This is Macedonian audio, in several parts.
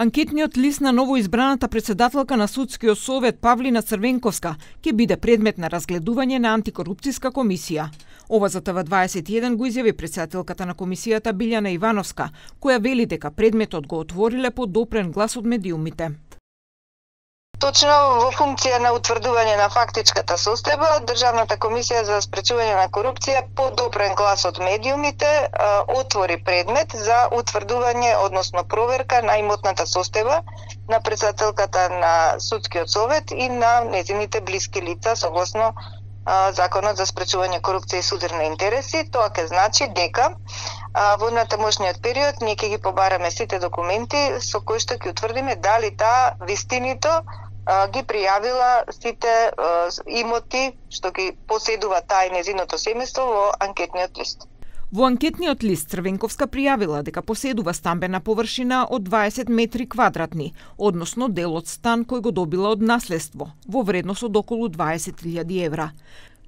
Анкетниот лист на новоизбраната председателка на Судскиот совет Павлина Црвенковска ќе биде предмет на разгледување на антикорупцијска комисија. Ова за ТВ21 го изјави председателката на комисијата Билјана Ивановска, која вели дека предметот го отвориле по допрен глас од медиумите. Точно во функција на утврдување на фактичката состојба, Државната комисија за спречување на корупција по допрен глас од медиумите отвори предмет за утврдување, односно проверка на имотната состојба на председателката на Судскиот совет и на незините блиски лица согласно Законот за спречување корупција и судирни интереси. Тоа ќе значи дека во натамошниот период ние ќе ги побараме сите документи со кои што ќе утврдиме дали таа вистинито ги пријавила сите имоти што ги поседува таа и незиното семејство во анкетниот лист. Во анкетниот лист Црвенковска пријавила дека поседува стамбена површина од 20 метри квадратни, односно дел од стан кој го добила од наследство, во вредност од околу 20.000 евра.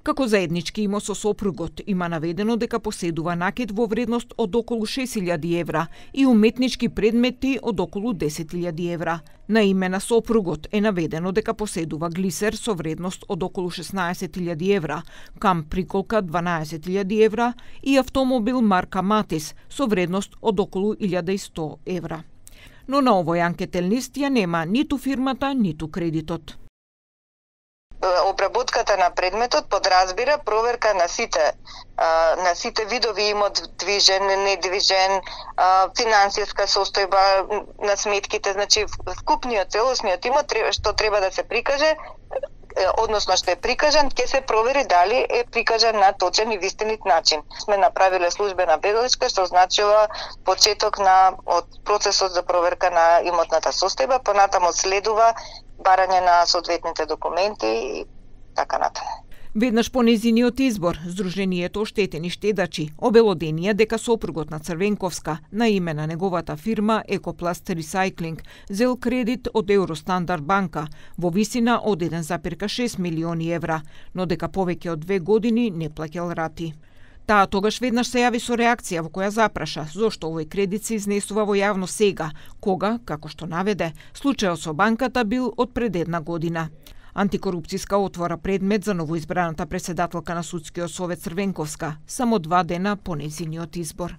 Како заеднички имот со сопругот има наведено дека поседува накит во вредност од околу 6.000 евра и уметнички предмети од околу 10.000 евра. На име на сопругот е наведено дека поседува глисер со вредност од околу 16.000 евра, кам приколка 12.000 евра и автомобил марка Матис со вредност од околу 1.100 евра. Но на овој анкетен лист ја нема ниту фирмата, ниту кредитот. Обработката на предметот подразбира проверка на сите видови имот, движен, недвижен, финансиска состојба на сметките, значи вкупниот целосниот имот што треба да се прикаже, односно што е прикажан, ќе се провери дали е прикажан на точен и вистинит начин. Сме направиле службена белешка, што значува почеток од процесот за проверка на имотната состојба, понатаму следува барање на соодветните документи и така натаму. Веднаш по незиниот избор, Сдруженијето Оштетени штедачи обелоденија дека сопругот на Црвенковска на име на неговата фирма Екопласт Ресайклинг зел кредит од Евростандард банка во висина од 1,6 милиони евра, но дека повеќе од 2 години не плаќал рати. Таа тогаш веднаш се јави со реакција во која запраша зошто овој кредит се изнесува во јавно сега, кога, како што наведе, случајот со банката бил од пред 1 година. Антикорупцијска отвора предмет за новоизбраната председателка на Судскиот совет Црвенковска само 2 дена по нејзиниот избор.